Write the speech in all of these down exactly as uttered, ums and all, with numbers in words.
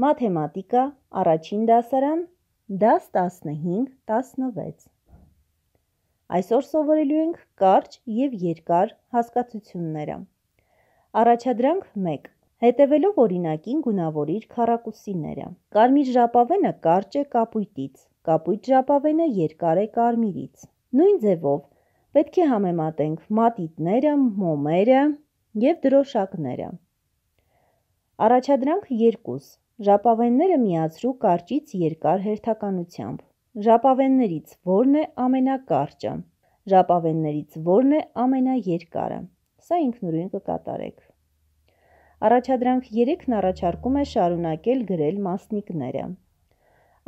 Մաթեմատիկա, առաջին դասարան, դաս տասնհինգ տասնվեց։ Այսօր սովորելու ենք կարճ և երկար հասկացությունները։ Առաջադրանք մեկ. Հետևելով օրինակին գունավորիր քառակուսիները։ Կարմիր ժապավենը կարճ է կապույտից, կապույտ ժապավենը երկար է կարմիրից։ Նույն ձևով պետք է համեմատենք մատիտները, մոմերը և դրոշակները։ Առաջադրանք երկու. Ժապավենները միացրու կարճից երկար հերթականությամբ։ Ժապավեններից որն է ամենակարճը։ Ժապավեններից որն է ամենաերկարը։ Սա ինքնուրույն կկատարեք։ Առաջադրանք երեքն առաջարկում է շարունակել գրել մասնիկները։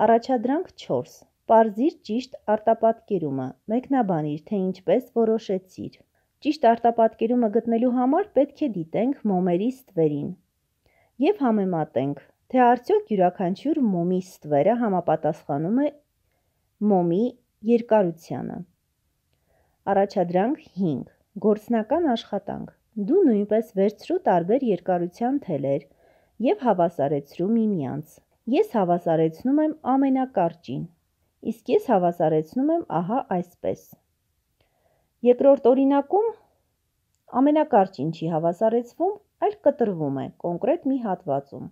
Առաջադրանք չորս. Պարզիր ճիշտ արտապատկերումը, մեկնաբանիր, թե ինչպես որոշեցիր։ Ճիշտ արտապատկերումը գտնելու համար պետք է դիտենք մոմերի ստվերին և համեմատենք, թե արդյոք յուրաքանչյուր մոմի ստվերը համապատասխանում է մոմի երկարությանը։ Առաջադրանք հինգ. Գործնական աշխատանք։ Դու նույնպես վերցրու տարբեր երկարության թելեր և հավասարեցրու միմյանց։ Ես հավասարեցնում եմ ամենակարճին, իսկ ես հավասարեցնում եմ ահա այսպես։ Երկրորդ օրինակում ամենակարճին չի հավասարեցվում, այլ կտրվում է կոնկրետ մի հատվածում։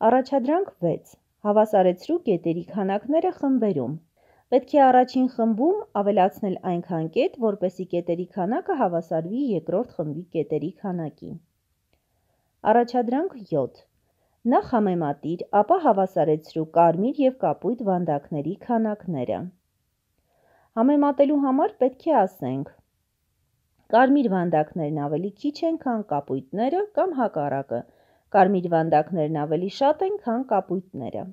Առաջադրանք վեց. Հավասարեցրու կետերի քանակները խմբերում։ Պետք է առաջին խմբում ավելացնել այնքան կետ, որպեսզի կետերի քանակը հավասարվի երկրորդ խմբի կետերի քանակին։ Առաջադրանք յոթ. Նախ համեմատիր, ապա հավասարեցրու կարմիր և կապույտ վանդակների քանակները։ Համեմատելու համար պետք է ասենք. կարմիր վանդակներն ավելի քիչ են, քան կապույտները, կամ հակառակը, կարմիր վանդակներն ավելի շատ են, քան կապույտները։